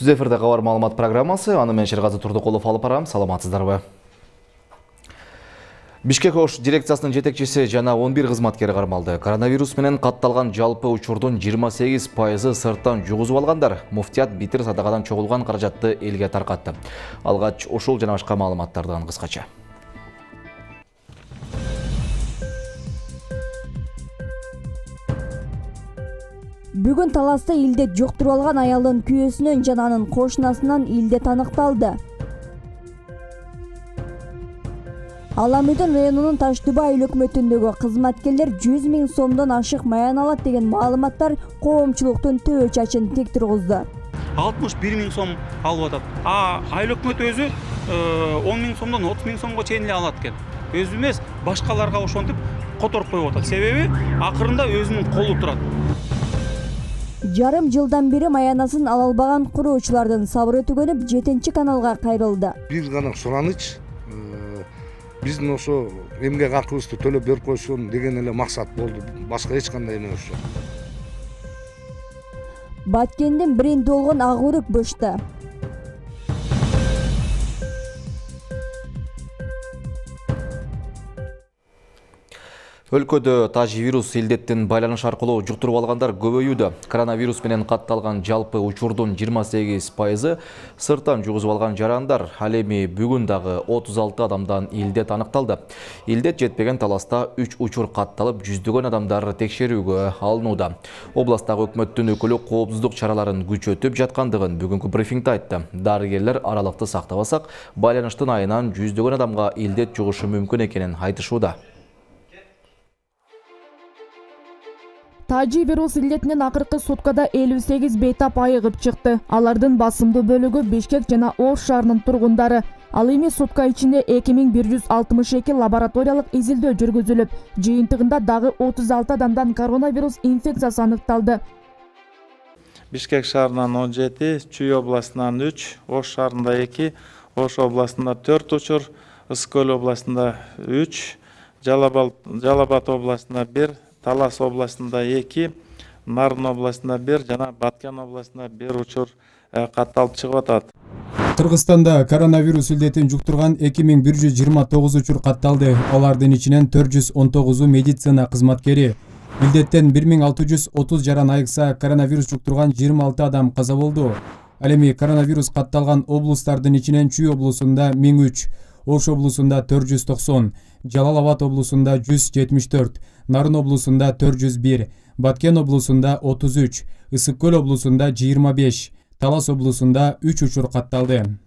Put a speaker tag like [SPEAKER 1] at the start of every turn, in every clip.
[SPEAKER 1] Түз эфирде кабар маалымат программасы, аны мен Шергази Турдукулов алып барам. Саламатсыздарбы? Бишкек ОШ дирекциясынын жетекчиси жана 11 кызматкери кармалды. Коронавирус менен катталган жалпы учурдун 28% сырттан жугузуп алгандар. Муфтият битир садакадан чогулган каражатты элге таркатты. Алгач ушул жана башка маалыматтардан кыскача.
[SPEAKER 2] Бүгүн Таласта илдет жуктуруп алган аялдын күйөөсүнөн жана анын кошунасынан илдет аныкталды. Аламүдүн районунун Таш-Түбө айыл өкмөтүндөгү кызматкерлер 100 000 сомдон ашык маян алат деген маалыматтар коомчулуктун төбө чачын тик тургузду.
[SPEAKER 3] 61 000 сом алып атат. Айыл өкмөтү өзү 10 000 сомдон 30 000 сомго чейин эле алат экен. Өзү эмес, башкаларга ошентип которуп коюп атат. Себеби акырында өзүнүн колу турат.
[SPEAKER 2] Жарым жылдан бери маянасын ала албаган куруучулардын сабыры түгөнүп, 7 каналга кайрылды.
[SPEAKER 4] Бир гана сураныч, биздин ошо эмгек акыбызды төлөп берип койсун деген эле максат болду. Башка эч кандай эмес жок.
[SPEAKER 2] Баткендин бренди болгон ак өрүк бышты.
[SPEAKER 1] Өлкөдө тажи-вирус илдеттин байланыш аркылуу жуктуруп алгандар көбөйүүдө. Коронавирус менен катталган жалпы учурдун 28% сырттан жугузуп алган жарандар. Ал эми бүгүн дагы 36 адамдан илдет аныкталды. Илдет жетпеген Таласта 3 учур катталып, жүздөгөн адамдар текшерүүгө алынууда. Областагы өкмөттүн өкүлү коопсуздук чараларын күчөтүп жаткандыгын бүгүнкү брифингде айтты. Дарыгерлер аралыкты сактабасак, байланыштын айынан жүздөгөн адамга илдет жугушу мүмкүн экенин айтышууда.
[SPEAKER 5] Тажи-вирус илдетинен акыркы суткада 58 бейтап айыгып чыкты. Алардын басымдуу бөлүгү Бишкек жана Ош шаарынын тургундары. Ал эми сутка ичинде 2162 лабораториялык изилдөө жүргүзүлүп, жыйынтыгында дагы 36 адамдан коронавирус инфекциясы аныкталды.
[SPEAKER 6] Бишкек шаарынан 17, Чүй областынан 3, Ош шаарында 2, Ош областында 4 учур, Ысык-Көл областында 3, Жалал-Абад областында 1, Талас областында 2, Нарын областында 1 жана Баткен областында 1 учур катталып чыгып атат.
[SPEAKER 7] Кыргызстанда коронавирус илдетин жуктурган 2129 учур катталды. Алардын ичинен 419 медицина кызматкери. Илдеттен 1630 жаран айыкса, коронавирус жуктурган 26 адам каза болду. Ал эми коронавирус катталган облустардын ичинен Чүй облусунда 1003, Ош облусунда 490, Жалал-Абад облусунда 174, Нарын облусунда 401, Баткен облусунда 33, Ысык-Көл облусунда 25, Талас облусунда 3 учур катталды.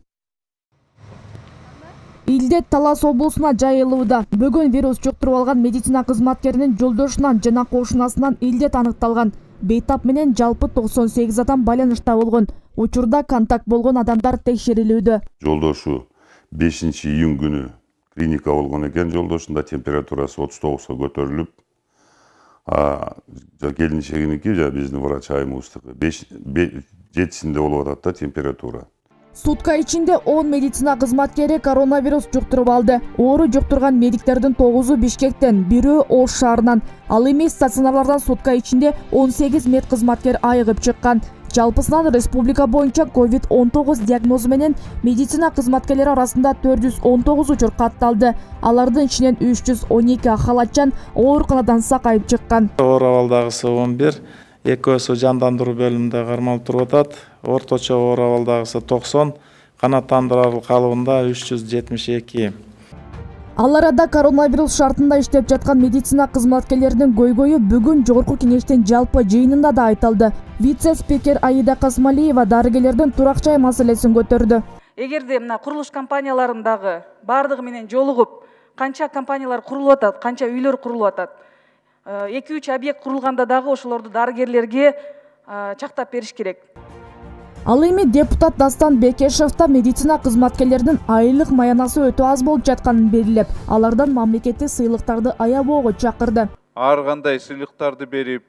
[SPEAKER 5] Илдет Талас облусуна жайылууда. Бүгүн вирус жуктуруп алган медицина кызматкеринин жолдошунан жана кошунасынан илдет аныкталган. Бейтап менен жалпы 98 адам байланышта болгон. Учурда контакт болгон адамдар текшерилүүдө.
[SPEAKER 8] Жолдошу 5 июнь күнү клиника болгон экен, жолдошунда температурасы 39-га көтөрүлүп, келинчегиники жана биздин врач айымыбыздыкы 7-синде болуп атат да температура.
[SPEAKER 5] Сутка ичинде 10 медицина кызматкери коронавирус жуктуруп алды. Оору жуктурган медиктердин 9-у Бишкектен, 1-өө Ош шаарынан. Ал эми стационарлардан сутка ичинде 18 мед кызматкер айыгып чыккан. Жалпысынан республика боюнча COVID-19 диагнозу менен медицина кызматкерлери арасында 419 учур катталды. Алардын ичинен 312 халатчан ооруканадан сакайып чыккан.
[SPEAKER 6] Оор абалдагысы 11, экөөсү жандандыруу бөлүмүндө кармалып туруп атат. Орточо оор абалдагысы 90, канааттандыруу калыбында 372.
[SPEAKER 5] Ал арада коронавирус шартында иштеп жаткан медицина кызматкерлеринин көйгөйү бүгүн жогорку кеңештин жалпы жыйынында да айтылды. Вице-спикер Аида Касмалиева дарыгерлердин турак жай маселесин көтөрдү.
[SPEAKER 9] Эгерде мына курулуш компанияларындагы бардыгы менен жолугуп, канча компаниялар курулуп атат, канча үйлөр курулуп атат. 2-3 объект курулганда дагы ошолорду дарыгерлерге чактап бериш керек.
[SPEAKER 5] Ал эми депутат Дастан Бекешевта медицина кызматкерлеринин айлык маянасы өтө аз болуп жатканын белгилеп, алардан мамлекеттик сыйлыктарды аябоого чакырды.
[SPEAKER 10] Ар кандай сыйлыктарды берип,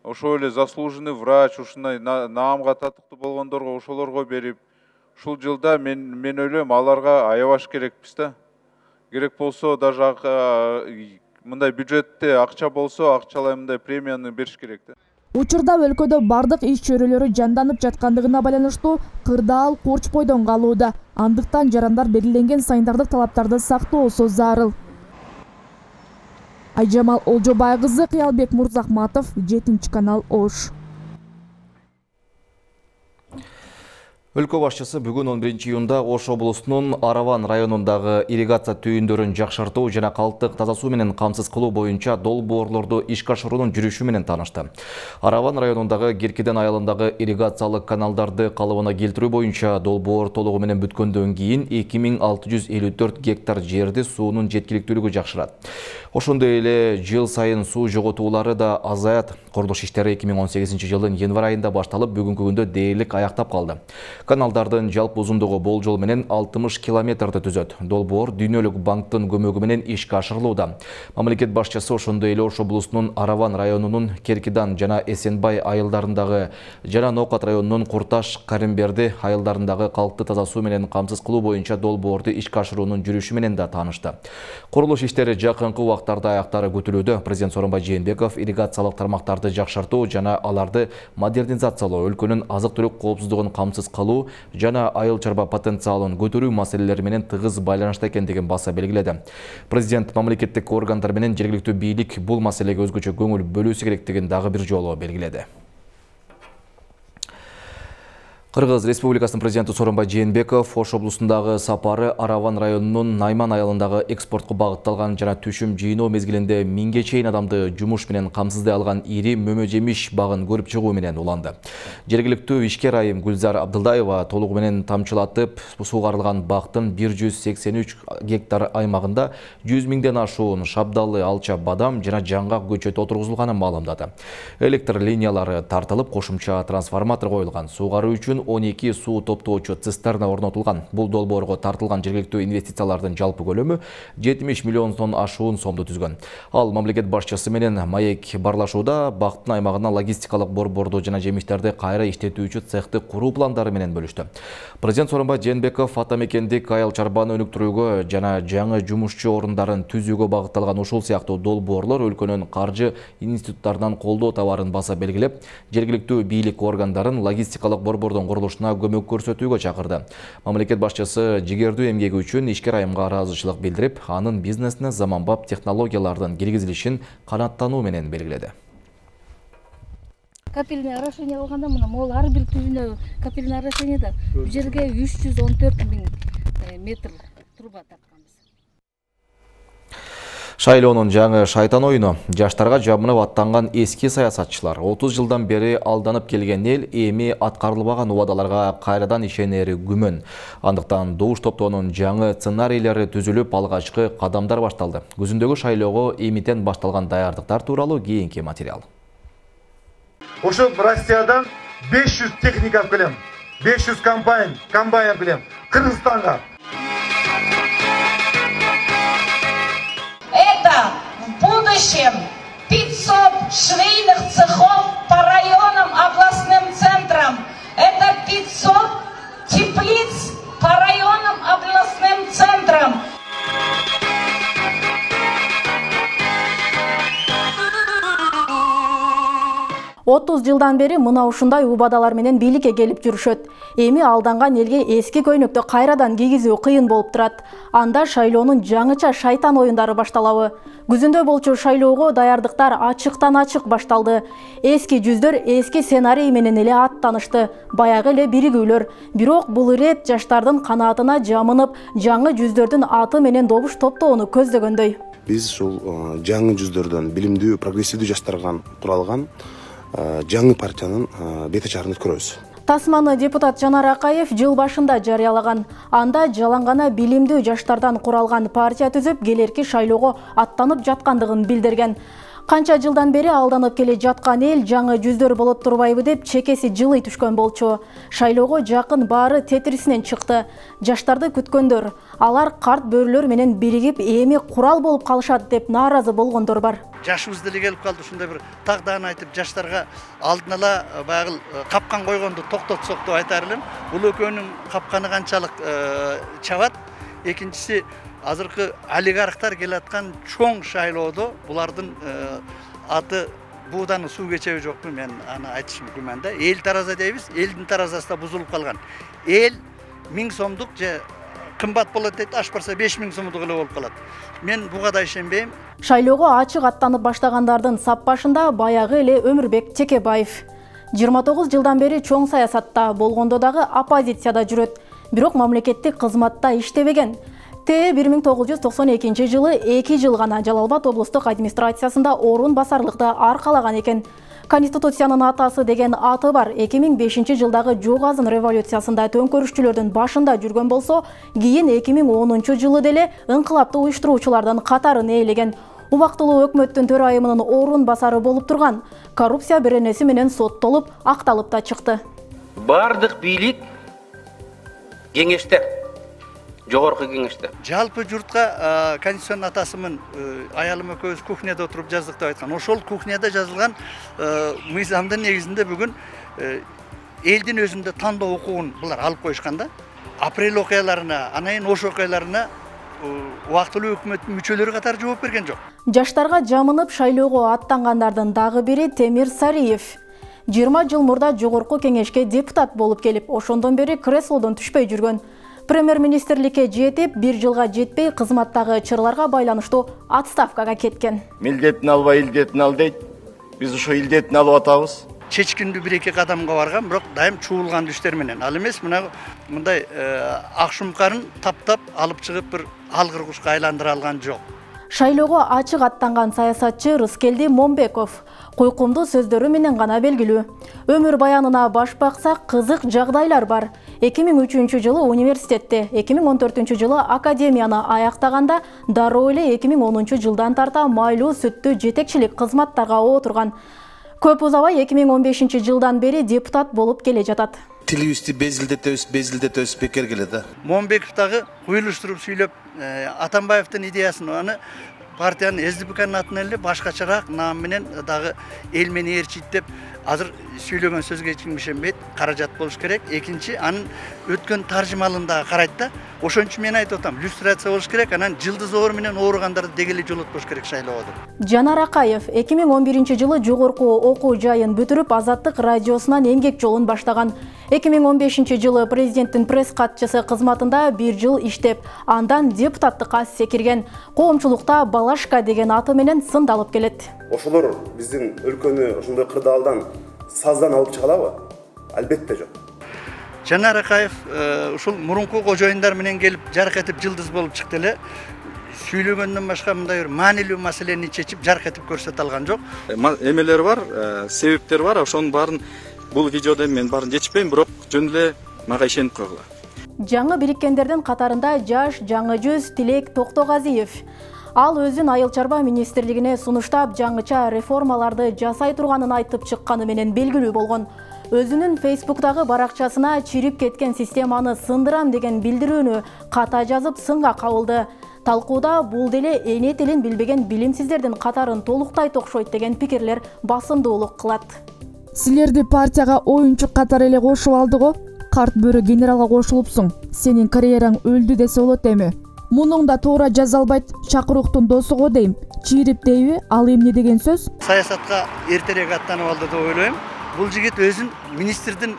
[SPEAKER 10] ошол эле заслуженный врач, ушундай наамга татыктуу болгондорго ошолорго берип, ушул жылда мен ойлойм аларга аябаш керекпиз да. Керек болсо даже мындай бюджетте акча болсо, акчалай мындай премияны бериш керек да.
[SPEAKER 5] Учурда өлкөдө бардык иш чөйрөлөрү жанданып жаткандыгына байланыштуу кырдаал корчпойдон калууда. Андыктан жарандар белгиленген санитардык талаптарды сактоосу зарыл. Айжамал Олжобай кызы, Кыялбек Мурзахматов, 7 канал Ош.
[SPEAKER 1] Өлкө башчысы бүгүн 11 июнда Ош облусунун Араван районундагы ирригация түйүндөрүн жакшыртуу жана калктык таза суу менен камсыз кылуу боюнча долбоорлорду ишке ашыруунун жүрүшү менен таанышты. Араван районундагы Керкеден айылындагы ирригациялык каналдарды калыбына келтирүү боюнча долбоор толугу менен бүткөндөн кийин 2654 гектар жерди суунун жеткиликтүүлүгү жакшырат. Ошондой эле жыл сайын суу жоготуулары да азаят. Курулуш иштери 2018 жылдын январь айында башталып, бүгүнкү күндө дээрлик аяктап калды. Каналдардын жалпы узундугу болжол менен 60 километрди түзөт. Долбоор Дүйнөлүк банктын көмөгү менен ишке ашырылууда. Мамлекет башчысы ошондой эле Ош облусунун Араван районунун Керкидан жана Эсенбай айылдарындагы жана Ноокат районунун Курташ, Каримберди айылдарындагы калкты таза суу менен камсыз кылуу боюнча долбоорду ишке ашыруунун жүрүшү менен да таанышты. Курулуш иштери жакынкы убактарда аяктары күтүлүүдө. Президент Сооронбай Жээнбеков ирригациялык тармактарды жакшыртуу жана аларды модернизациялоо, өлкөнүн азык-түлүк коопсуздугун камсыз кылуу жана айыл чарба потенциалын көтөрүү маселелери менен тыгыз байланышта экендигин баса белгиледи. Президент мамлекеттик органдар менен жергиликтүү бийлик бул маселеге өзгөчө көңүл бөлүүсү керектигин дагы бир жолу белгиледи. Кыргыз Республикасынын президенти Сооронбай Жээнбеков Ош облусундагы сапары Араван районунун Найман айылындагы экспортко багытталган жана түшүм жыйноо мезгилинде 1000ге чейин адамды жумуш менен камсыздай алган ири мөмө жемиш багын көрүп чыгуу менен уланды. Жергиликтүү ишкер айым Гүлзар Абдылдаева толугу менен тамчылатып суугарылган бактын 183 гектар аймагында 100 миңден ашуун шабдалы, алча, бадам жана жаңгак көчөтү отургузулганын маалымдады. Электр линиялары тартылып, кошумча трансформатор коюлган. Суугаруу үчүн 12 суу топтоочу цистерна орнотулган. Бул долбоорго тартылган жергиликтүү инвестициялардын жалпы көлөмү 70 миллиондон ашуун сомду түзгөн. Ал мамлекет башчысы менен маек барлашууда бактын аймагына логистикалык борборду жана жемиштерди кайра иштетүүчү цехти куруу пландары менен бөлүштү. Президент Сооронбай Жээнбеков ата мекендик айыл чарбаны өнүктүрүүгө жана жаңы жумушчу орундарын түзүүгө багытталган ушул сыяктуу долбоорлор өлкөнүн каржы институттарынан колдоо табарын баса белгилеп, жергиликтүү бийлик органдарын логистикалык борбордун курулушуна көмөк көрсөтүүгө чакырды. Мамлекет башчысы жигердүү эмгеги үчүн ишкер айымга ыраазычылык билдирип, анын бизнесине заманбап технологиялардын киргизилишин канааттануу менен белгиледи.
[SPEAKER 11] Капельное орошение болгондо мына могул ар бир түбүнө капельное орошениеде бул жерге 314 миң метр труба тартканбыз.
[SPEAKER 1] Шайлоонун жаңы шайтан оюну жаштарга жабынып аттанган эски саясатчылар 30 жылдан бери алданып келген эл эми аткарылбаган убадаларга кайрадан ишенери күмөн. Андыктан добуш топтоонун жаңы сценарийлери түзүлүп, алгачкы кадамдар башталды. Күзүндөгү шайлоого эмитен башталган даярдыктар тууралуу кийинки материал.
[SPEAKER 12] Ошо Россиядан 500 техника алып келем, 500 комбайн алып келем, Кыргызстанга.
[SPEAKER 13] Это в будущем 500 швейных цехов по районам, областным центрам. Это 500 теплиц по районам, областным центрам.
[SPEAKER 14] Отуз жылдан бери мына ушундай убадалар менен бийликке келип жүрүшөт. Эми алданган элге эски көйнөктү кайрадан кийгизүү кыйын болуп турат. Анда шайлоонун жаңыча шайтан оюндары башталабы. Күзүндө болчу шайлоого даярдыктар ачыктан ачык башталды. Эски жүздөр эски сценарий менен эле аттанышты. Баягы эле биригүүлөр. Бирок бул ирет жаштардын канаатына жамынып, жаңы жүздөрдүн аты менен добуш топтоону көздөгөндөй.
[SPEAKER 15] Биз ушул жаңы жүздөрдөн билимдүү, прогрессивдүү жаштардан куралган жаңы партиянын бет ачарын көрөбүз.
[SPEAKER 14] Тасманы депутат Жанар Акаев жыл башында жарыялаган. Анда жалаңгана билимдүү жаштардан куралган партия түзүп, келерки шайлоого аттанып жаткандыгын билдирген. Канча жылдан бери алданып келе жаткан эл жаңы жүздөр болот турбайбы деп чекеси жылый түшкөн болчу. Шайлоого жакын баары тетрисинен чыкты. Жаштарды күткөндөр, алар карт бөрүлөр менен биригип эми курал болуп калышат деп нааразы болгондор бар.
[SPEAKER 16] Жашыбыз деле келип калды, ушундай бир тагдарын айтып жаштарга алдын ала баягы капкан койгонду токтотсок деп айтар элем. Бул экөөнүн капканы канчалык чабат. Экинчиси, азыркы олигархтар келаткан чоң шайлоодо булардын аты бууданын суу кечеби жокпу, мен аны айтышым күмән да. Эл тараза дейбиз, элдин таразасы да бузулуп калган. Эл 1000 сомдук же кымбат болот дейт, аш барса 5000 сомдук эле болуп калат. Мен буга да ишенбейм.
[SPEAKER 14] Шайлоого ачык аттанып баштагандардын сап башында баягы эле Өмүрбек Чекебаев. 29 жылдан бери чоң саясатта болгондо дагы оппозицияда жүрөт, бирок мамлекеттик кызматта иштебеген. 1992 жылы 2 жыл гана Жалал Абад облустук администрациясында орун басарлыкты аркалаган экен. Конституциянын атасы деген аты бар. 2005 жылдагы Жок азын революциясында төңкөрүшчүлөрдүн башында жүргөн болсо, кийин 2010 жылы деле ыңкылапты уюштуруучулардын катарын ээлеген. Убактылуу өкмөттүн төрайымынын орун басары болуп турган. Коррупция беренеси менен соттолуп, акталып да чыкты.
[SPEAKER 17] Бардык бийлик кеңеште, жогорку кеңеште.
[SPEAKER 16] Жалпы журтка конституциянын атасымын аялым экөөбүз кухняда отуруп жаздык деп айткан. Ошол кухняда жазылган мыйзамдын негизинде бүгүн элдин өзүндө тандоо укугун булар алып коюшкан да. Апрель окуяларына, анан ош окуяларына убактылуу өкмөттүн мүчөлөрү катары жооп берген жок.
[SPEAKER 14] Жаштарга жамынып шайлоого аттангандардын дагы бири Темир Сариев. 20 жыл мурда жогорку кеңешке депутат болуп келип, ошондон бери креслодон түшпөй жүргөн. Премьер-министрликке жетип, 1 жылга жетпей кызматтагы чырларга байланыштуу отставкага кеткен.
[SPEAKER 18] Милдетин албай илдетин ал дейт. Биз ошо илдетин алып атабыз.
[SPEAKER 16] Чечкиндүү 1-2 кадамга барган, бирок дайым чуулган түштөр менен. Ал эмес, мындай акшумкарын таптап алып чыгып бир алгыр кушка айландыра алган жок.
[SPEAKER 14] Шайлоого ачык аттанган саясатчы Рыскелди Момбеков койкумдуу сөздөрү менен гана белгилүү. Өмүр баянына баш баксак, кызык жагдайлар бар. 2003 жылы университетте, 2014 жылы академияны аяктаганда, дароо эле 2010 жылдан тарта майлуу сүттүү жетекчилик кызматтарга отурган. Көп узабай 2015 жылдан бери депутат болуп келе жатат.
[SPEAKER 19] Тилибизди безилдетебиз бекер келет да.
[SPEAKER 16] Момбеков дагы куйлуштуруп сүйлөп, Атамбаевдин идеясын аны партиянын СДПКнын атынан эле башкачараак наам менен дагы эл мени ээрчийт деп азыр сүйлөгөн сөзгө эч ким ишенбейт. Каражат болуш керек. Экинчи, анын өткөн таржымалын дагы карайт да. Ошон үчүн мен айтып атам, люстрация болуш керек, анан жылдыз оор менен ооругандарды дегеле жолотпош керек шайлоодо.
[SPEAKER 14] Жанар Акаев 2011 жылы жогорку окуу жайын бүтүрүп, Азаттык радиосунан эмгек жолун баштаган. 2015 жылы президенттин пресс катчысы кызматында 1 жыл иштеп, андан депутаттыкка секирген. Коомчулукта Балашка деген аты менен сындалып келет.
[SPEAKER 15] Ошолор биздин өлкөнү ошондой кырдаалдан, саздан алып чыгалабы? Албетте жок.
[SPEAKER 16] Жанар Акаев ушул мурунку кожоюндар менен келип жарк этип жылдыз болуп чыкты эле. Сүйлөгөндөн башка мындай бир маанилүү маселени чечип жарк этип көрсөтө алган жок.
[SPEAKER 6] Эмелер бар, себептер бар, ошонун баарын бул видеодо мен баарын жетишпейм, бирок жөн эле мага ишенип койгула.
[SPEAKER 14] Жаңы бириккендердин катарында жаш жаңы жүз Тилек Токтогазиев. Ал өзүн Айыл чарба министрлигине сунуштап, жаңыча реформаларды жасай турганын айтып чыкканы менен белгилүү болгон. Өзүнүн Facebook'тагы баракчасына чирип кеткен системаны сындырам деген билдирүүнү ката жазып сынга кабылды. Талкууда бул деле эне тилин билбеген билимсиздердин катарын толуктайт окшойт деген пикирлер басымдуулук кылат.
[SPEAKER 5] Силерди партияга оюнчу катары эле кошуп алды го. Карт бөрү генералга кошулупсуң. Сенин карьераң өлдү десе болот эми. Мунуң да туура жаза албайт, чакыруктун досу го дейм. Чирип дейби, ал эмне деген сөз?
[SPEAKER 16] Саясатка эртерээк аттанып алды деп ойлойм. Бул жигит өзүн министрдин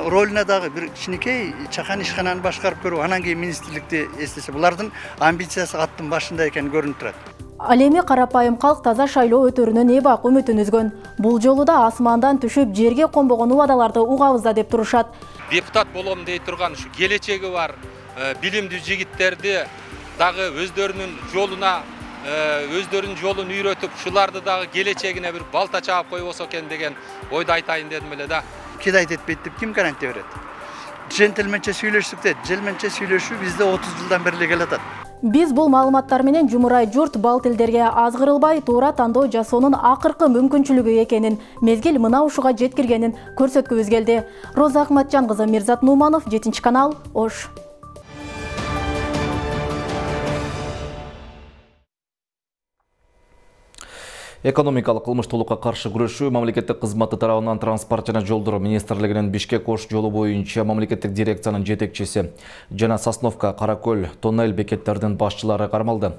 [SPEAKER 16] ролуна дагы бир кичинекей чакан ишкананы башкарып көрүп, анан кийин министрликти эстесе, булардын амбициясы аттын башында экени көрүнүп турат.
[SPEAKER 14] Ал эми карапайым калк таза шайлоо өтөрүнөн эбак үмүтүн үзгөн. Бул жолу да асмандан түшүп жерге конбогон убадаларды угабыз да деп турушат.
[SPEAKER 20] Депутат болом дей турган ушу келечеги бар билимдүү жигиттерди дагы өздөрүнүн жолун үйрөтүп, ушуларды дагы келечегине бир балта чаап койбосо экен деген ойду айтайын дедим эле да.
[SPEAKER 16] Кидайт этпейт деп ким гарантия берет? Джентльменче сүйлөшсүк де, джентльменче сүйлөшүү бизде 30 жылдан бери эле келатат.
[SPEAKER 14] Биз бул маалыматтар менен жумурай журт бал тилдерге азгырылбай туура тандоо жасоонун акыркы мүмкүнчүлүгү экенин, мезгил мына ушуга жеткиргенин көрсөткүбүз келди. Роза Акматжан кызы, Мирзат Нуманов, 7-канал, Ош.
[SPEAKER 1] Экономикалык кылмыштуулукка каршы күрөшүү мамлекеттик кызматы тарабынан Транспорт жана жолдор министрлигинин Бишкек-Ош жолу боюнча мамлекеттик дирекциянын жетекчиси жана Сосновка, Каракөл, тоннель бекеттердин башчылары кармалды.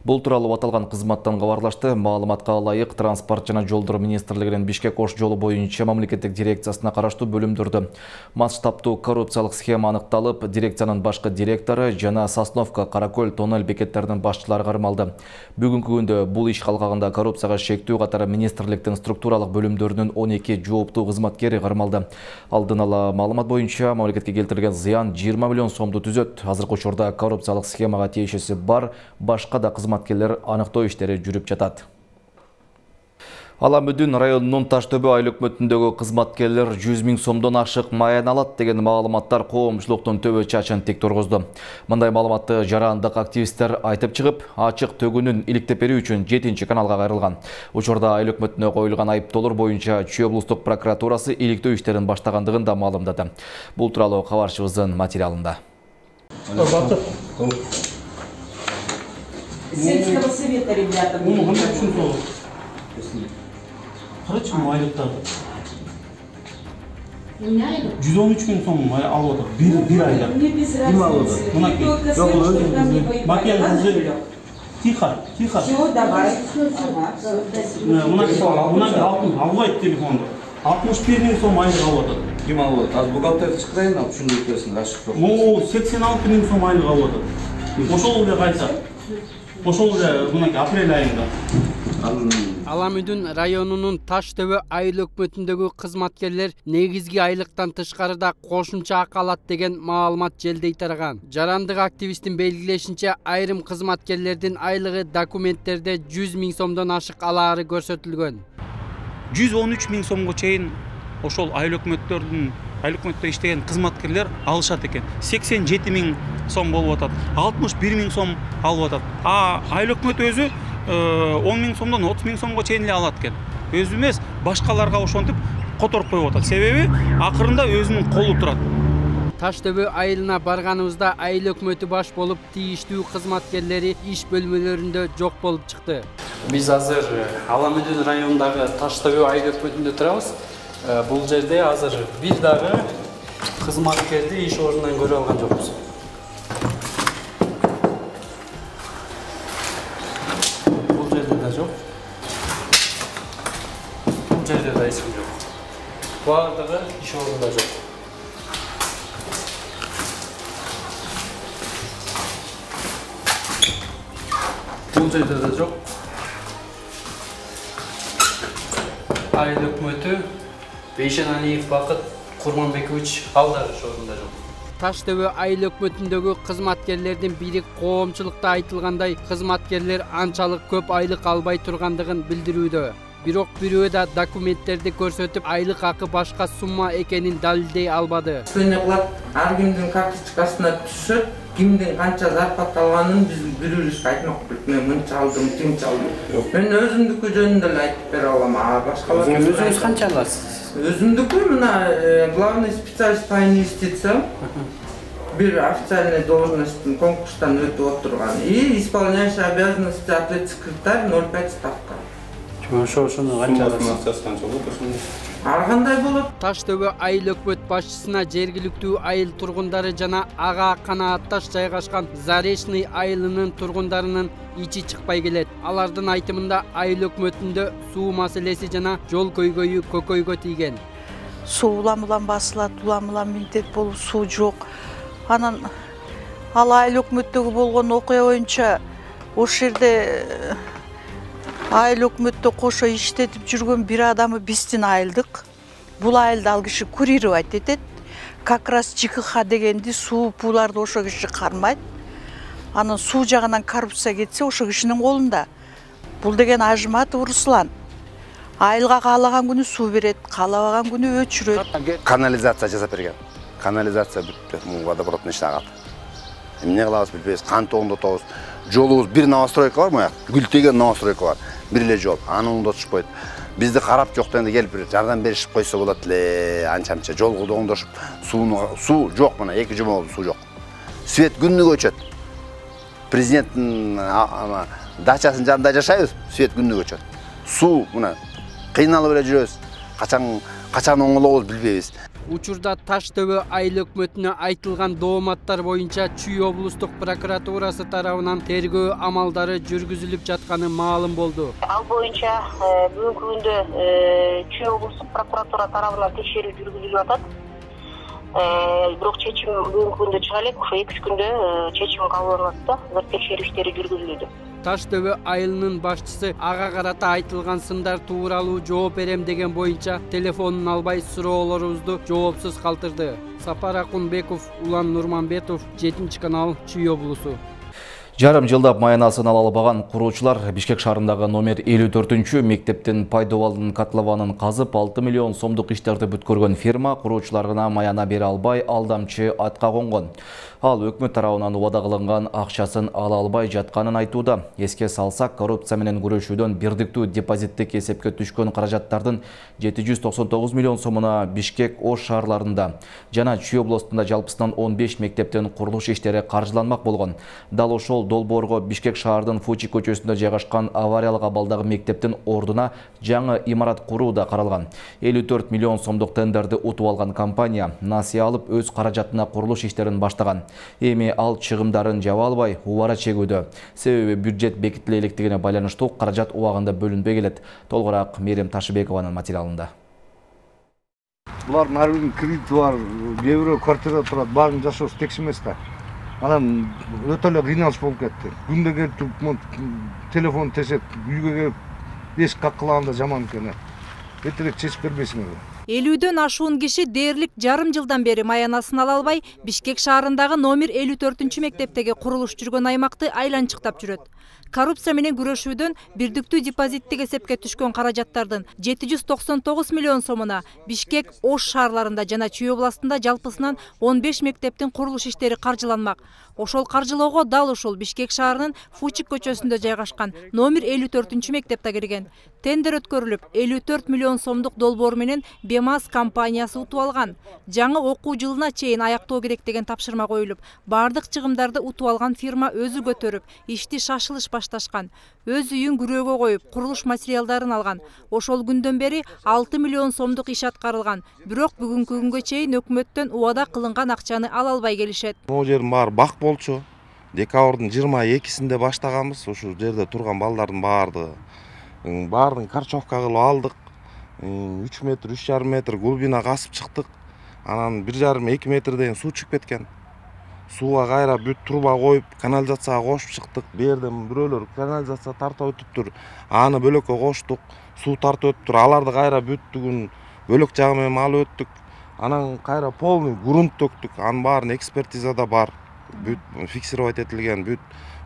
[SPEAKER 1] Бул тууралуу аталган кызматтан кабарлашты. Маалыматка ылайык, Транспорт жана жолдор министрлигинин Бишкек-Ош жолу боюнча мамлекеттик дирекциясына караштуу бөлүмдөрдө масштабтуу коррупциялык схема аныкталып, дирекциянын башкы директору жана Сосновка, Каракөл, тоннель бекеттердин башчылары кармалды. Бүгүнкү күндө бул иш калкагында коррупцияга шектүү катары министрликтин структуралык бөлүмдөрүнүн 12 жооптуу кызматкери кармалды. Алдын ала маалымат боюнча мамлекетке келтирилген зыян 20 миллион сомду түзөт. Азыркы учурда коррупциялык схемага тиешеси бар башка да кызматкерлер аныктоо иштери жүрүп жатат. Аламүдүн районунун Таштөбө айыл өкмөтүндөгү кызматкерлер 100 000 сомдон ашык маян алат деген маалыматтар коомчулуктун төбө чачын тик тургузду. Мындай маалыматты жарандык активисттер айтып чыгып, ачык төгүнүн иликтеп берүү үчүн 7 каналга кайрылган. Учурда айыл өкмөтүнө коюлган айыптоолор боюнча Чүй облустук прокуратурасы иликтөө иштерин баштагандыгын да маалымдады. Бул тууралуу кабарчыбыздын материалында.
[SPEAKER 21] Сельского совета, ребята.
[SPEAKER 3] 113 gün son aldı. Bir ayda. Kim aldı? Тихо.
[SPEAKER 21] Все, давай.
[SPEAKER 3] Албайт телефонду. 61 000 сом айлык алып атат.
[SPEAKER 22] Ким алып атат? Az бухгалтерди чыкырайын, алып түшүндүрүп ашык жок.
[SPEAKER 3] 86 000 сом айлык алып атат. Ошол эле кайса. Ошол эле мынакей апрель айында.
[SPEAKER 23] Аламүдүн районунун Таштөбө айыл өкмөтүндөгү кызматкерлер негизги айлыктан тышкарыда кошумча акы алат деген маалымат желдей тараган. Жарандык активисттин белгилешинче, айрым кызматкерлердин айлыгы документтерде 100 000 сомдон ашык алаары көрсөтүлгөн.
[SPEAKER 3] 113 000 сомго чейин ошол айыл өкмөттө иштеген кызматкерлер алышат экен. 87 000 сом болуп атат. 61 000 сом алып атат. Айыл өкмөт өзү 10 000 сомдон 30 000 сомго чейин эле алат экен. Өзү эмес, башкаларга ошентип которуп коюп атат. Себеби акырында өзүнүн колу турат.
[SPEAKER 23] Таштөбө айылына барганыбызда айыл өкмөтү баш болуп тийиштүү кызматкерлери иш бөлмөлөрүндө жок болуп чыкты.
[SPEAKER 24] Биз азыр Аламүдүн районундагы Таштөбө айыл өкмөтүндө турабыз. Бул жерде азыр бир дагы кызматкерди иш ордунан көрө алган жокпуз. Бул жерде да жок. Бул жерде да эч ким жок. Баардыгы иш ордунда жок. Бул жерде да жок. Айыл өкмөтү Бейшеналиев Бакыт Курманбекович алдар ордунда жок.
[SPEAKER 23] Таштөбө айыл өкмөтүндөгү кызматкерлердин бири коомчулукта айтылгандай кызматкерлер анчалык көп айлык албай тургандыгын билдирүүдө. Бирок бирөө да документтерди көрсөтүп, айлык акы башка сумма экенин далилдей албады.
[SPEAKER 25] Эне кылат, ар кимдин карточкасына түшөт, кимдин канча зарплата алганын биз бирөөбүз айтмак болуп, мен мынча алдым, тимче алдым. Мен өзүмдүкү жөнүндө эле айтып бере алам, башкалар.
[SPEAKER 24] Өзүңүз канча аласыз?
[SPEAKER 25] Өзүмдүкү мына главный специалист по инвестициям. Бир официальный должностьтун конкурстан өтүп отурган. И исполняющий обязанности ответ секретарь 0,5 ставка.
[SPEAKER 24] Ошону канча аласыз?
[SPEAKER 25] Ар кандай болот?
[SPEAKER 23] Таштөбө айыл өкмөт башчысына жергиликтүү айыл тургундары жана ага канаатташ жайгашкан Заречный айылынын тургундарынын ичи чыкпай келет. Алардын айтымында айыл өкмөтүндө суу маселеси жана жол көйгөйү көкөйгө тийген.
[SPEAKER 26] Суу улам басылат, улам минтет болуп суу жок. Анан ал айыл өкмөттөгү болгон окуя боюнча ошол жерде айыл өкмөттө кошо иштетип жүргөн бир адамы биздин айылдык. Бул айылды ал киши курировать этет. Как раз ЖКХ дегенди суу пууларды ошо киши кармайт. Анан суу жагынан коррупция кетсе ошо кишинин колунда. Бул деген Ажыматов Руслан. Айылга каалаган күнү суу берет, каалабаган күнү өчүрөт.
[SPEAKER 27] Канализация жасап берген. Канализация бүттү, водопроводдун ишине агат. Эмне кылабыз билбейбиз, кантип оңдотобуз. Жолубуз бир новостройка бар мояк, гүлтеген новостройка бар. Бир эле жол, аны оңдотушпойт. Бизди карап жоктон эле келип бир жардам беришип койсо болот эле, анча-мынча жолду оңдошуп, суу жок мына, 2 жума болду суу жок. Свет күнүгө өчөт. Президенттин дачасынын жанында жашайбыз, свет күнүгө өчөт. суу мына кыйналып эле жүрөбүз. Качан оңолобуз билбейбиз.
[SPEAKER 23] Учурда Таш ТВ айыл өкмөтүнө айтылган дооматтар боюнча Чүй облустук прокуратурасы тарабынан тергөө амалдары жүргүзүлүп жатканы маалым болду.
[SPEAKER 2] Ал боюнча бүгүнкү күндө Чүй облустук прокуратура тарабынан текшерүү жүргүзүлүп атат. Бирок чечим бүгүнкү күндө чыга элек, ошо 2 күндө чечим кабыл алынат да, текшерүү иштери жүргүзүлүүдө.
[SPEAKER 23] Таш ТВ айылынын башчысы ага карата айтылган сындар тууралуу жооп берем деген боюнча телефонун албай суроолорубузду жоопсуз калтырды. Сапар Акунбеков, Улан Нурманбетов, 7-канал, Чүй облусу.
[SPEAKER 1] Жарым жылдап маянасын ала албаган куруучулар Бишкек шаарындагы номер 54 мектептин пайдалануу котлованын казып 6 миллион сомдук иштерди бүткөргөн фирма куруучуларына маяна бере албай алдамчы атка конгон. Ал өкмөт тарабынан убада кылынган акчасын ала албай жатканын айтууда. Эске салсак, коррупция менен күрөшүүдөн бирдиктүү депозиттик эсепке түшкөн каражаттардын 799 миллион сомуна Бишкек, Ош шаарларында жана Чүй областында жалпысынан 15 мектептин курулуш иштери каржыланмак болгон. Дал ошол долбоорго Бишкек шаардын Фучи көчөсүндө жайгашкан авариялык абалдагы мектептин ордуна жаңы имарат куруу да каралган. 54 миллион сомдук тендерди утуп алган компания насыя алып өз каражатына курулуш иштерин баштаган. Эми ал чыгымдарын жаба албай убара чегүүдө. Себеби бюджет бекитиле электигине байланыштуу каражат убагында бөлүнбөй келет. Толгораак Мерим Ташыбекованын материалында.
[SPEAKER 4] Булардын ар биринин кредити бар, кээ бирөө квартирада турат, баарын жашоосу текш эмес да. Анан өтө эле кыйналыш болуп кетти. Күндө келип телефон тесет, үйгө келип эшик каккылаганда жаман экен. Эртерээк чечип бербейсиңерби?
[SPEAKER 7] 50дөн ашуун киши дээрлик жарым жылдан бери маянасын ала албай Бишкек шаарындагы номер 54 мектептеги курулуш жүргөн аймакты айланчыктап жүрөт. Коррупция менен күрөшүүдөн бирдиктүү депозиттик эсепке түшкөн каражаттардын 799 миллион сомуна Бишкек, Ош шаарларында жана Чүй областында жалпысынан 15 мектептин курулуш иштери каржыланмак. Ошол каржылоого дал ушул Бишкек шаарынын Фучик көчөсүндө жайгашкан номер 54 мектепте кирген. Тендер өткөрүлүп, 54 миллион сомдук долбоор менен БЕМАЗ компаниясы утуп алган. Жаңы окуу жылына чейин аяктоо керек деген тапшырма коюлуп, бардык чыгымдарды утуп алган фирма өзү көтөрүп, ишти шашылыш башташкан. Өз үйүн күрөөгө коюп, курулуш материалдарын алган. Ошол күндөн бери 6 миллион сомдук иш аткарылган. Бирок бүгүнкү күнгө чейин өкмөттөн убада кылынган акчаны ала албай келишет.
[SPEAKER 8] Могу жердин баары бак болчу. Декабрдын 22-синде баштаганбыз. Ушул жерде турган балдардын баарын карчовка кылып алдык. 3 метр, 3,5 метр глубина касып чыктык. Анан 1,5-2 метрден суу чыгып кеткен. Сууга кайра бүт труба коюп, канализацияга кошуп чыктык. Берден бирөөлөр канализация тартып өтүптүр. Аны бөлөккө коштук. Суу тартып өтүптүр. Аларды кайра бүттүгүн бөлөк жагы менен алып өттүк. Анан кайра полный грунт төктүк. Анын баарын экспертизада бар. Бүт фиксировать этилген, бүт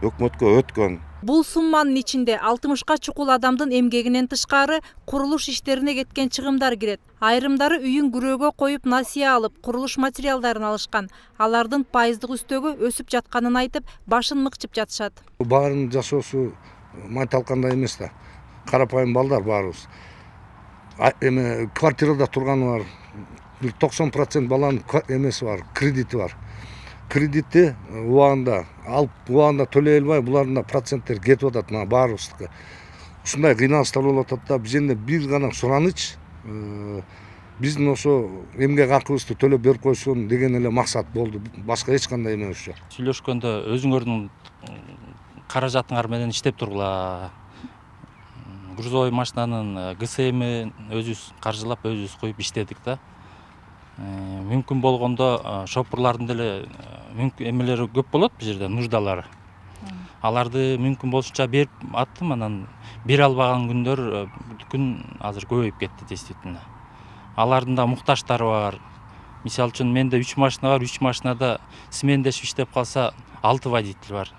[SPEAKER 8] өкмөткө өткөн.
[SPEAKER 7] Бул сумманын ичинде 60ка чукул адамдын эмгегинен тышкары курулуш иштерине кеткен чыгымдар кирет. Айрымдары үйүн күрөөгө коюп насыя алып, курулуш материалдарын алышкан. Алардын пайыздык үстөгү өсүп жатканын айтып, башын мыкчып жатышат.
[SPEAKER 4] Баарынын жашоосу майталкандай эмес да. Карапайым балдар баарыбыз. Эми квартирада турганы бар. 90% баланын эмеси бар, кредити бар. Кредитти убагында алып, убагында төлөй албай, булардын проценттери кетип атат, мына баарыбыздыкы. Ушундай кыйналыштар болуп атат да, бизде бир гана сураныч, биздин ошо эмгек акыбызды төлөп берип койсун деген эле максат болду. Башка эч кандай эме жок.
[SPEAKER 9] Сүйлөшкөндө өзүңөрдүн каражатыңар менен иштеп тургула. Грузовой машинанын ГСМ өзүбүз каржылап, өзүбүз коюп иштедик да. Мүмкүн болгондо шопурлардын деле эмелери көп болот бул жерде, нуждалары. Аларды мүмкүн болушунча берип аттым, анан бере албаган күндөр күн азыр көбөйүп кетти действительно. Алардын да муктаждары бар. Мисалы үчүн менде 3 машина бар, 3 машинада смендешип иштеп калса 6 водитель бар.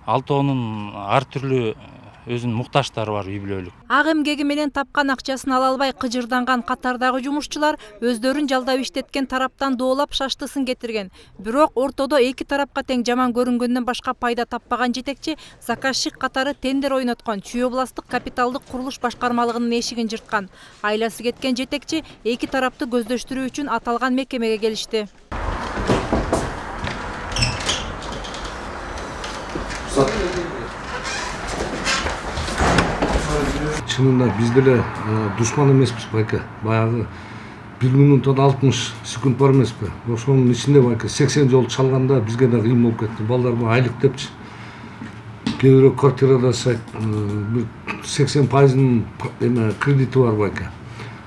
[SPEAKER 9] 6-онун ар түрлүү өзүнүн муктаждары бар, үй бүлөлүк.
[SPEAKER 7] Ак эмгеги менен тапкан акчасын ала албай кыжырданган катардагы жумушчулар өздөрүн жалдап иштеткен тараптан доолап шаштысын кетирген. Бирок ортодо эки тарапка тең жаман көрүнгөндөн башка пайда таппаган жетекчи заказчик катары тендер ойноткон Чүй областык капиталдык курулуш башкармалыгынын эшигин жырткан. Айласы кеткен жетекчи эки тарапты көздөштүрүү үчүн аталган мекемеге келишти.
[SPEAKER 4] Чынында биз деле душман эмеспиз байке. Баягы 1 минуттан 60 секунд бар эмеспи? Ошонун ичинде байке 80 жол чалганда бизге да кыйын болуп кетти. Балдар айлык депчи. Кээ бирөө квартирада 80% кредити бар байке.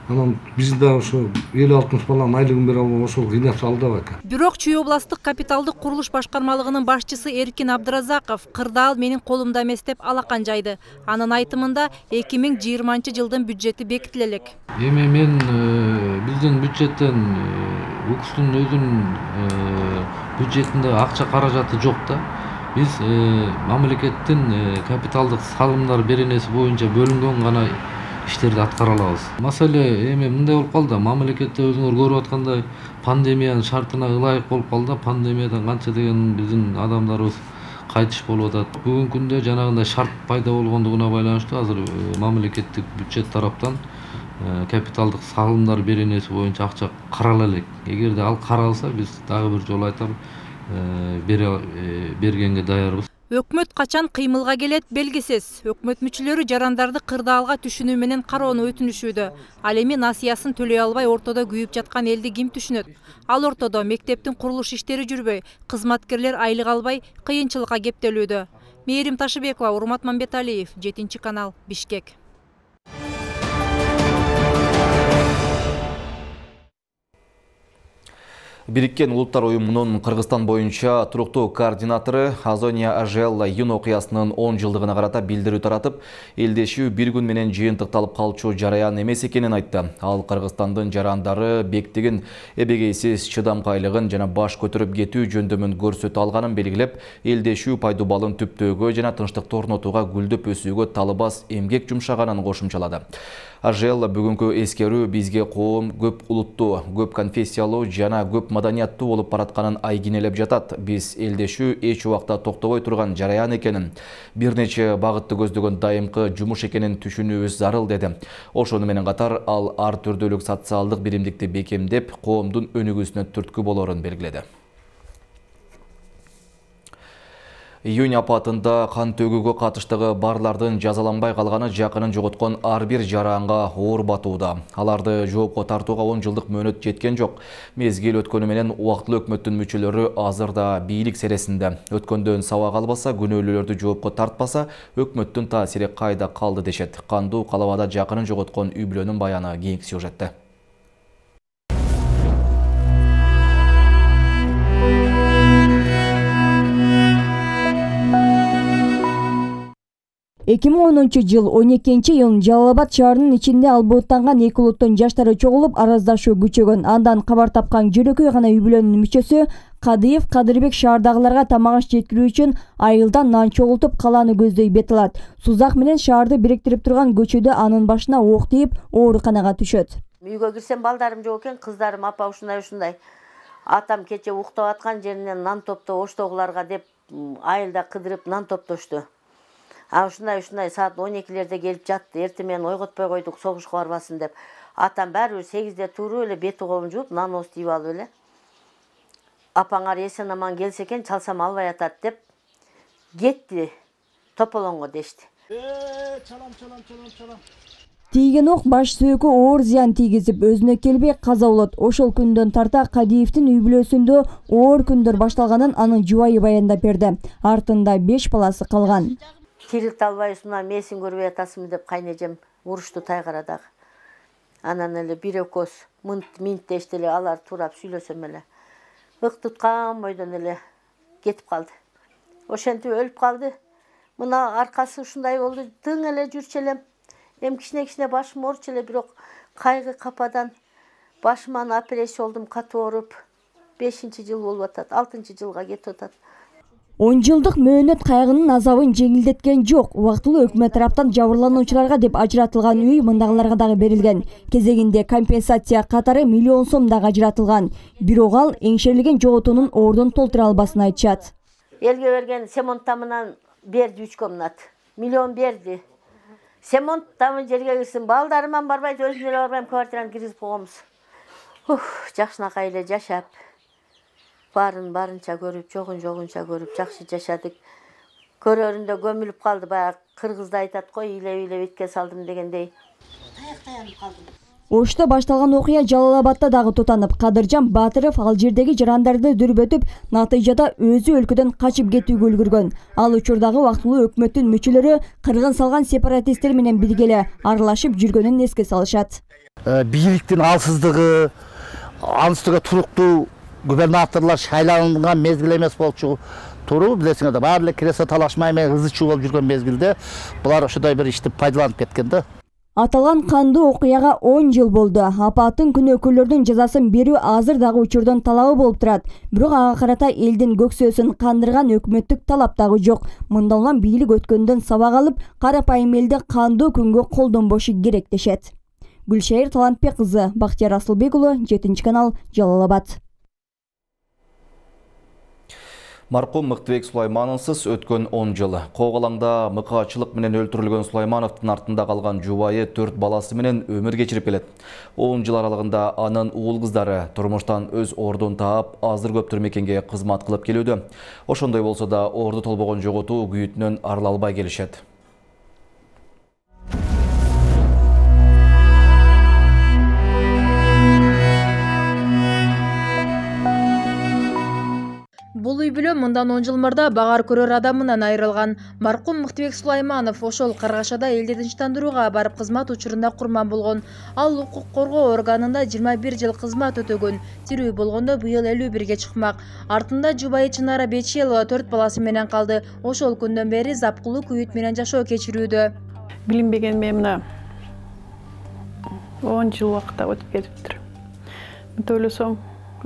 [SPEAKER 4] Анан биз да ошо 50-60 баланын айлыгын бере албай ошол кыйнап салды байке.
[SPEAKER 7] Бирок Чүй областык капиталдык курулуш башкармалыгынын башчысы Эркин Абдыразаков кырдаал менин колумда эмес деп алакан жайды. Анын айтымында 2020-жылдын бюджети бекитиле элек.
[SPEAKER 10] Эми мен биздин бюджеттен УКСтун өзүнүн бюджетинде акча каражаты жок да. Биз мамлекеттин капиталдык салымдар беренеси боюнча бөлүнгөн гана иштерди аткара алабыз. Маселе эми мындай болуп калды. Мамлекетте өзүңөр көрүп аткандай пандемиянын шартына ылайык болуп калды. Пандемиядан канча деген биздин адамдарыбыз кайтыш болуп атат. Бүгүнкү күндө жанагындай шарт пайда болгондугуна байланыштуу азыр мамлекеттик бюджет тараптан капиталдык салымдар беренеси боюнча акча карала элек. Эгерде ал каралса, биз дагы бир жолу айтам, бергенге даярбыз.
[SPEAKER 7] Өкмөт качан кыймылга келет белгисиз. Өкмөт мүчөлөрү жарандарды кырдаалга түшүнүү менен кароону өтүнүшүүдө. Ал эми насыясын төлөй албай ортодо күйүп жаткан элди ким түшүнөт? Ал ортодо мектептин курулуш иштери жүрбөй, кызматкерлер айлык албай кыйынчылыкка кептелүүдө. Мээрим Ташыбекова, Урмат Мамбеталиев, 7-канал, Бишкек.
[SPEAKER 1] Бириккен Улуттар уюмунун Кыргызстан боюнча туруктуу координатору Азония Ажелла июнь окуясынын 10 жылдыгына карата билдирүү таратып, элдешүү бир күн менен жыйынтыкталып калчу жараян эмес экенин айтты. Ал Кыргызстандын жарандары бектигин эбегейсиз чыдамкайлыгын жана баш көтөрүп кетүү жөндөмүн көрсөтө алганын белгилеп, элдешүү пайдубалын түптөөгө жана тынчтыкты орнотууга гүлдөп өсүүгө талыбас эмгек жумшаганын кошумчалады. Ажелла бүгүнкү эскерүү бизге коом көп улуттуу, көп конфессиялуу жана көп маданияттуу болуп баратканын айгинелеп жатат. Биз элдешүү эч убакта токтобой турган жараян экенин, бир нече багытты көздөгөн дайымкы жумуш экенин түшүнүүбүз зарыл деди. Ошону менен катар ал ар түрдүүлүк социалдык биримдикти бекемдеп, коомдун өнүгүүсүнө түрткү болорун белгиледи. Июнь апатында кан төгүүгө катыштыгы барлардын жазаланбай калганы жакынын жоготкон ар бир жаранга оор батууда. Аларды жоопко тартууга 10 жылдык мөөнөт жеткен жок. Мезгил өткөнү менен убактылуу өкмөттүн мүчөлөрү азыр да бийлик сересинде. Өткөндөн сабак албаса, күнөөлүүлөрдү жоопко тартпаса, өкмөттүн таасири кайда калды дешет. Кандуу калабада жакынын жоготкон үй бүлөнүн баяны кийинки сюжетте.
[SPEAKER 11] Жыл 12-июнь Жалал Абад шаарынын ичинде албооттанган эки улуттун жаштары чогулуп араздашуу күчөгөн. Андан кабар тапкан жөнөкөй гана үй бүлөнүн мүчөсү Кадыев Кадырбек шаардагыларга тамак аш жеткирүү үчүн айылдан нан чогултуп калааны көздөй бет алат. Сузак менен шаарды бириктирип турган көчөдө анын башына ок тийип, ооруканага түшөт.
[SPEAKER 12] Үйгө кирсем балдарым жок экен, кыздарым апа ушундай. Атам кече уктап аткан жеринен нан топто оштогуларга деп айылда кыдырып нан топтошту. Ушундай саат 12-лерде келип жатты. Эртең менен ойготпой койдук, согушка барбасын деп. Атам баары 8-де туруп эле бети колун жууп, нан ооступ алып эле. Апаңар эсен аман келсе экен, чалсам албай атат деп кетти. Тополоңго дешти.
[SPEAKER 11] Чалам. Тийген ок баш сөөккө оор зыян тийгизип, өзүнө келбей каза болот. Ошол күндөн тарта Кадиевдин үй бүлөсүндө оор күндөр башталганын анын жубайы баяндап берди. Артында 5 баласы калган.
[SPEAKER 12] Тирилте албайсыңбы, месин көрбөй атасыңбы деп кайнежем урушту Тайгарадагы. Анан эле бир экөөс минттешти эле, алар туурап сүйлөсөм эле. Ык туткан бойдон эле кетип калды. Ошентип өлүп калды. Мына аркасы ушундай болду, тың эле жүрчү элем. Эми кичине башым оорчу эле, бирок кайгы кападан башыман операция болдум, катуу ооруп. 5-жыл болуп атат, 6-жылга кетип атат.
[SPEAKER 11] 10 жылдык мөөнөт кайгынын азабын жеңилдеткен жок. Убактылуу өкмөт тараптан жабырлануучуларга деп ажыратылган үй мындагыларга дагы берилген. Кезегинде компенсация катары $1 миллион дагы ажыратылган. Бирок ал эңшерилген жоготуунун ордун толтура албасын айтышат.
[SPEAKER 12] Элге берген семонт тамынан берди 3 комнат. $1 миллион берди. Семонт тамы жерге кирсин, балдарыман барбайт, өзүм эле барбайм, квартираны киргизип койгонбуз. Жакшынакай эле жашап, барынча көрүп, жогунча көрүп, жакшы жашадык. көрөрүндө көмүлүп калды. Баягы кыргызда айтат го, илеп итке салдым дегендей. Таянып калдым.
[SPEAKER 11] Ошто башталган окуя Жалал-Абадта дагы тутанып, Кадыржан Батыров ал жердеги жарандарды дүрбөтүп, натыйжада өзү өлкөдөн качып кетүүгө үлгүргөн. Ал учурдагы убактылуу өкмөттүн мүчөлөрү кыргын салган сепаратисттер менен бирге эле аралашып жүргөнүн эске салышат.
[SPEAKER 5] Бийликтин алсыздыгы, анын үстүгө туруктуу губернаторлор шайланган мезгил эмес болчу. Туру билесиңер, баары эле киресе талашмай менен ызы-чуу болуп жүргөн мезгилде булар ошондой бир ишти пайдаланып кеткен да.
[SPEAKER 11] Аталган кандуу окуяга 10 жыл болду. Апаттын күнөөкөрлөрдүн жазасын берүү азыр дагы учурдун талабы болуп турат. Бирок ага карата элдин көксөөсүн кандырган өкмөттүк талап дагы жок. Мындан улам бийлик өткөндөн сабак алып, карапайым элди кандуу күнгө колдонбошу керек дешет. Гүлшайыр Талантбек кызы, Бактияр Асылбек уулу, 7 канал, Жалал-Абад.
[SPEAKER 1] Маркум Мыктыбек Сулаймановсыз өткөн 10 жыл. Коголаңда мыкаачылык менен өлтүрүлгөн Сулаймановдун артында калган жубайы 4 баласы менен өмүр кечирип келет. 10 жыл аралыгында анын уул кыздары турмуштан өз ордун таап, азыр көптөр мекенге кызмат кылып келүүдө. Ошондой болсо да орду толбогон жоготуу күйүтүнөн арыла албай келишет.
[SPEAKER 7] Бул үй бүлө мындан 10 жыл мурда багар көрөр адамынан айрылган. Маркум Мыктыбек Сулайманов ошол Каргашада элди тынчтандырууга барып кызмат учурунда курман болгон. Ал укук коргоо органында 21 жыл кызмат өтөгөн. Тирүү болгондо быйыл 51-ге чыкмак. Артында жубайы Чынара Бечелова 4 баласы менен калды. Ошол күндөн бери запкылуу күйүт менен жашоо кечирүүдө.
[SPEAKER 6] Билинбеген мен мына 10 жыл убакытта өтүп кетиптир. Мынтип ойлосоң,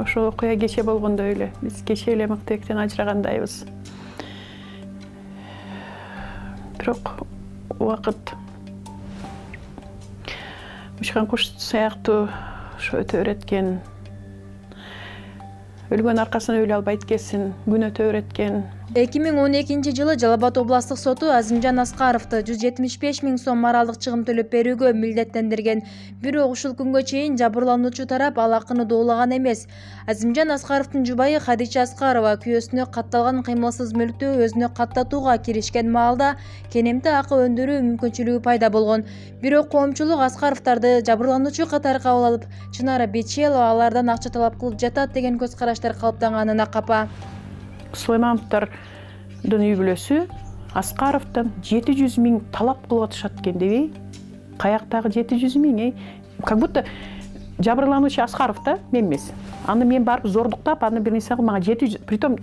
[SPEAKER 6] ошол окуя кече болгондой эле. Биз кече эле Мыктыбектен ажырагандайбыз. Бирок убакыт учкан куш сыяктуу ошо өтө береткен. Өлгөн аркасынан өлө албайт экенсиң, күн өтө береткен.
[SPEAKER 7] 2012 жылы Жалал-Абад областык соту Азимжан Аскаровду 175 000 сом моралдык чыгым төлөп берүүгө милдеттендирген. Бирок ушул күнгө чейин жабырлануучу тарап ал акыны доолаган эмес. Азимжан Аскаровдун жубайы Хадича Аскарова күйөөсүнө катталган кыймылсыз мүлктү өзүнө каттатууга киришкен маалда кенемти акы өндүрүү мүмкүнчүлүгү пайда болгон. Бирок коомчулук Аскаровдорду жабырлануучу катары кабыл алып, Чынара Бечелова алардан акча талап кылып жатат деген көз караштар калыптанганына капа.
[SPEAKER 6] Сулаймановдун үй бүлөсү Аскаровдон 700 000 талап кылып атышат экен дебей. Каяктагы 700 000? Как будто жабырлануучу Аскаров да, мен эмес. Аны мен барып зордуктап, аны бир нерсе кылып мага 700, притом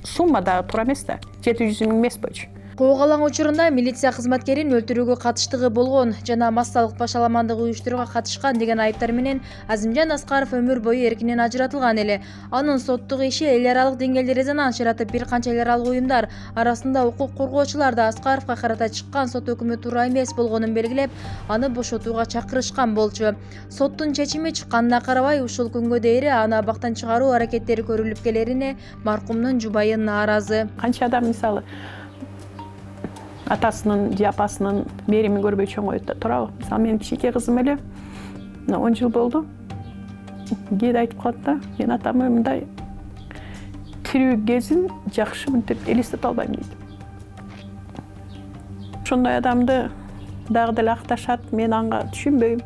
[SPEAKER 6] сумма да туура эмес да. 700 000 эмес болчу.
[SPEAKER 7] Коголаң учурунда милиция кызматкерин өлтүрүүгө катыштыгы болгон жана массалык башаламандык уюштурууга катышкан деген айыптар менен Азимжан Аскаров өмүр бою эркинен ажыратылган эле. Анын соттук иши эл аралык деңгээлде резонанс жаратып, бир канча эл аралык уюмдар арасында укук коргоочулар да Аскаровго карата чыккан сот өкүмү туура эмес болгонун белгилеп, аны бошотууга чакырышкан болчу. Соттун чечими чыкканына карабай, ушул күнгө дейин аны абактан чыгаруу аракеттери көрүлүп келерине маркумдун жубайы нааразы.
[SPEAKER 6] Канча адам мисалы атасынын же апасынын мээримин көрбөй чоңойт туурабы? Мисалы менин кичинекей кызым эле 10 жыл болду. Кээде айтып калат да, мен атамы мындай тирүү кезин жакшы мынтип элестете албайм дейт. Ошондой адамды дагы деле акташат, мен анга түшүнбөйм.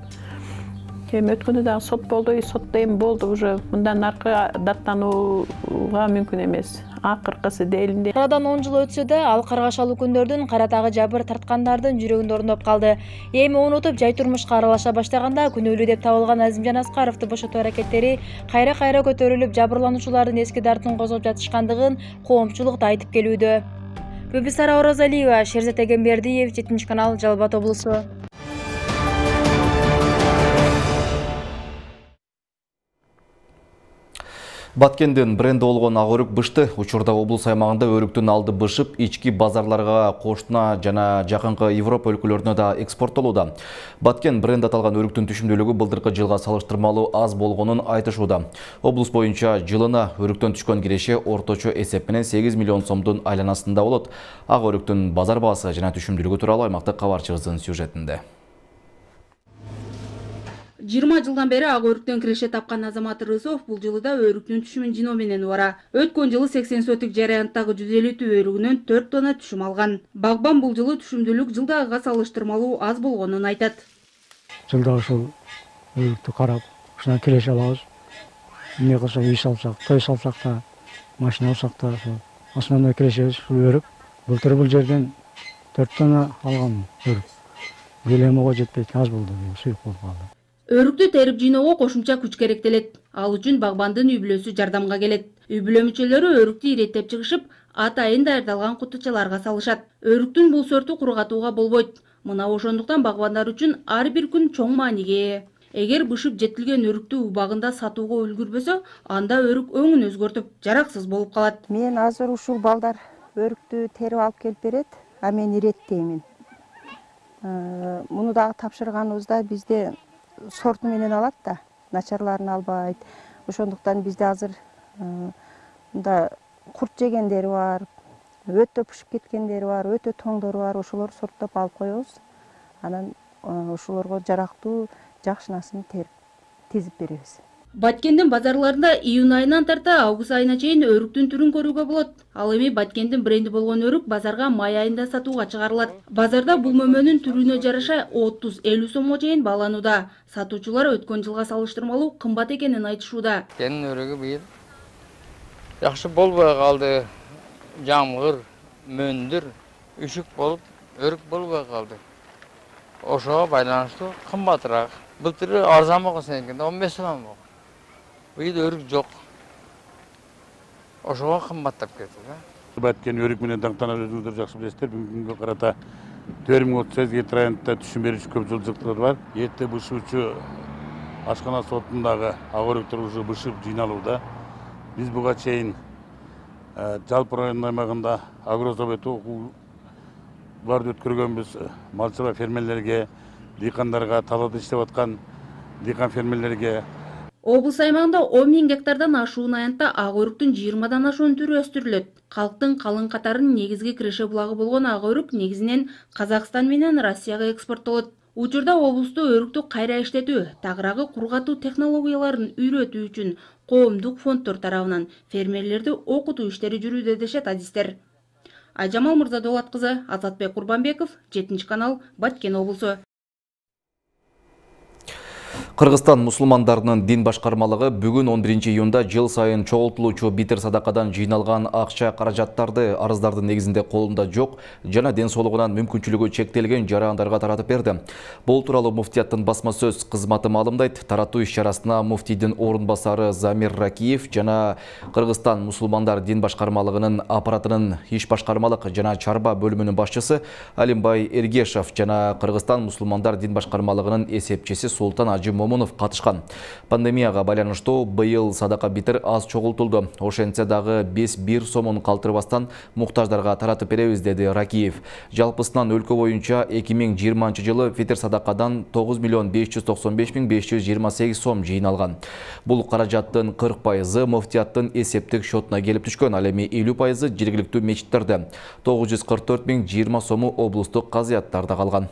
[SPEAKER 6] Эми өткөндө дагы сот болду, сотто эми болду уже мындан аркы даттанууга мүмкүн эмес. Акыркысы делинде.
[SPEAKER 7] Арадан 10 жыл өтсө да, ал каргашалуу күндөрдүн каратагы жабыр тарткандардын жүрөгүндө орноп калды. Эми унутуп, жай турмушка аралаша баштаганда күнөөлүү деп табылган Азимжан Аскаровду бошотуу аракеттери кайра-кайра көтөрүлүп, жабырлануучулардын эски дартын козгоп жатышкандыгын коомчулук да айтып келүүдө. Бүбүсара Оразалиева, Шерзат Эгембердиев, 7 канал, Жалал-Абад облусу.
[SPEAKER 1] Баткендин бренди болгон ак өрүк бышты. Учурда облус аймагында өрүктүн алды бышып, ички базарларга, кошуна жана жакынкы Европа өлкөлөрүнө да экспорттолууда. Баткен бренд аталган өрүктүн түшүмдүүлүгү былтыркы жылга салыштырмалуу аз болгонун айтышууда. Облус боюнча жылына өрүктөн түшкөн киреше орточо эсеп менен 8 миллион сомдун айланасында болот. Ак өрүктүн базар баасы жана түшүмдүүлүгү тууралуу аймактык кабарчыбыздын сюжетинде.
[SPEAKER 13] 20 жылдан бери ак өрүктөн киреше тапкан Азамат Рысов бул жылы да өрүктүн түшүмүн жиноо менен убара. Өткөн жылы 80 сотик жараянттагы 150 өрүгүнөн 4 тонна түшүм алган. Багбан бул жылы түшүмдүүлүк жылдагыга салыштырмалуу аз болгонун айтат.
[SPEAKER 15] Жылда ушул өрүктү карап, ушунан киреше алабыз. Эмне кылсак, үй салсак, той салсак да, машина алсак да, основной кирешебиз ушул өрүк. Былтыр бул жерден 4 тонна алган өрүк. Көлөмүгө жетпейт, аз болду, суюк болуп калды.
[SPEAKER 13] Өрүктү терип жыйноого кошумча күч керектелет. Ал үчүн багбандын үй бүлөсү жардамга келет. Үй бүлө мүчөлөрү өрүктү иреттеп чыгышып, атайын даярдалган кутучаларга салышат. Өрүктүн бул сорту кургатууга болбойт. Мына ошондуктан багбандар үчүн ар бир күн чоң мааниге ээ. Эгер бышып жетилген өрүктү убагында сатууга үлгүрбөсө, анда өрүк өңүн өзгөртүп, жараксыз болуп калат.
[SPEAKER 16] Мен азыр ушул балдар өрүктү терип алып келип берет, а мен иреттеймин. Муну дагы тапшырганыбызда бизде сорту менен алат да, начарларын албайт. Ошондуктан бизде азыр мында курт жегендери бар, өтө пышып кеткендери бар, өтө тоңдору бар, ошолор сорттоп алып коебуз. Анан ошолорго жарактуу жакшынасын терип тизип беребиз.
[SPEAKER 13] Баткендин базарларында июнь айынан тарта август айына чейин өрүктүн түрүн көрүүгө болот. Ал эми Баткендин бренди болгон өрүк базарга май айында сатууга чыгарылат. Базарда бул мөмөнүн түрүнө жараша 30-50 сомго чейин бааланууда. Сатуучулар өткөн жылга салыштырмалуу кымбат экенин айтышууда.
[SPEAKER 17] Кенин өрүгү быйыл жакшы болбой калды. Жамгыр, мөндүр, үшүк болуп, өрүк болбой калды. Ошого байланыштуу кымбатыраак. Былтыр арзан болгон сенекенде 15 сом болгон. Быйыл өрүк жок. Ошого кымбаттап кетти да.
[SPEAKER 18] Баткен өрүк менен даңтанат өзүңүздөр жакшы билесиздер. Бүгүнкү күнгө карата 4038 районунда түшүм берүүчү көп жылдыктар бар. Эрте бышуучу ашкана сотундагы ак өрүктөр уже бышып жыйналууда. Биз буга чейин жалпы район аймагында агрозавод окууларды өткөргөнбүз. Малчылар фермерлерге, дыйкандарга, талаада иштеп аткан дыйкан фермерлерге.
[SPEAKER 13] Облус аймагында 10 000 гектардан ашуун аянтта ак өрүктүн 20дан ашуун түрү өстүрүлөт. Калктын калың катарынын негизги киреше булагы болгон ак өрүк негизинен Казакстан менен Россияга экспорттолот. Учурда облусту өрүктү кайра иштетүү, тагыраагы кургатуу технологияларын үйрөтүү үчүн коомдук фонддор тарабынан фермерлерди окутуу иштери жүрүүдө дешет адистер. Айжамал Мырзадолат кызы, Азатбек Курбанбеков, 7-канал, Баткен облусу.
[SPEAKER 1] Кыргызстан мусулмандарынын дин башкармалыгы бүгүн 11 июнда жыл сайын чогултулуучу битир садакадан жыйналган акча каражаттарды арыздардын негизинде колунда жок жана ден соолугунан мүмкүнчүлүгү чектелген жарандарга таратып берди. Бул тууралуу муфтияттын басма сөз кызматы маалымдайт. Таратуу иш-чарасына муфтийдин орун басары Замир Ракиев жана Кыргызстан мусулмандар дин башкармалыгынын аппаратынын иш башкармалык жана чарба бөлүмүнүн башчысы Алимбай Эргешев жана Кыргызстан мусулмандар дин башкармалыгынын эсепчиси Султан Ажы Момунов катышкан. Пандемияга байланыштуу быйыл садака битир аз чогултулду. Ошентсе дагы 5-1 сомун калтырбастан муктаждарга таратып беребиз, деди Ракиев. Жалпысынан өлкө боюнча 2020 жылы фитир садакадан 9 595 528 сом жыйналган. Бул каражаттын 40% муфтияттын эсептик счетуна келип түшкөн, ал эми 50% жергиликтүү мечиттерде. 944 020 сому облустук казыяттарда калган.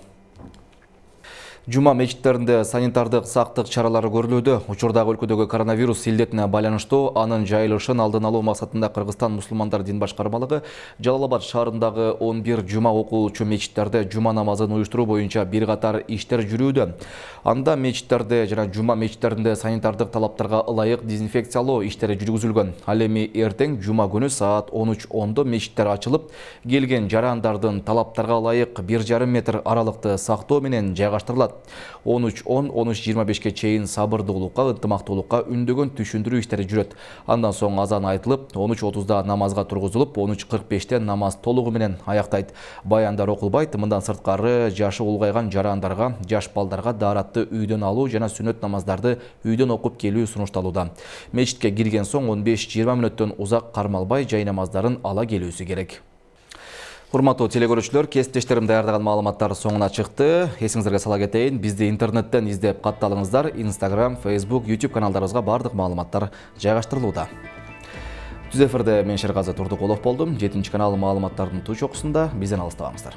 [SPEAKER 1] Жума мечиттеринде санитардык сактык чаралары көрүлүүдө. Учурдагы өлкөдөгү коронавирус илдетине байланыштуу анын жайылышын алдын алуу максатында Кыргызстан мусулмандар дин башкармалыгы Жалал-Абад шаарындагы 11 жума окуучу мечиттерде жума намазын уюштуруу боюнча бир катар иштер жүрүүдө. Анда мечиттерде жана жума мечиттеринде санитардык талаптарга ылайык дезинфекциялоо иштери жүргүзүлгөн. Ал эми эртең жума күнү саат 13:10 мечиттер ачылып, келген жарандардын талаптарга ылайык 1,5 метр аралыкты сактоо менен жайгаштырылат. 13:10-13:25 чейин сабырдуулукка, ынтымактуулукка үндөгөн түшүндүрүү иштери жүрөт. Андан соң азан айтылып, 13:30 намазга тургузулуп, 13:45 намаз толугу менен аяктайт. Баяндар окулбайт. Мындан сырткары жашы улгайган жарандарга, жаш балдарга дааратты үйдөн алуу жана сүннөт намаздарды үйдөн окуп келүү сунушталууда. Мечитке кирген соң 15-20 мүнөттөн узак кармалбай жай намаздарын ала келүүсү керек. Урматтуу телекөрүүчүлөр, кесиптештерим даярдаган маалыматтар соңуна чыкты. Эсиңиздерге сала кетейин, бизди интернеттен издеп катталыңыздар. Instagram, Facebook, YouTube каналдарыбызга бардык маалыматтар жайгаштырылууда. Түз эфирде мен Шерказы Турдукулов болдум. 7-канал маалыматтардын туу чокусунда бизден алыстабаңыздар.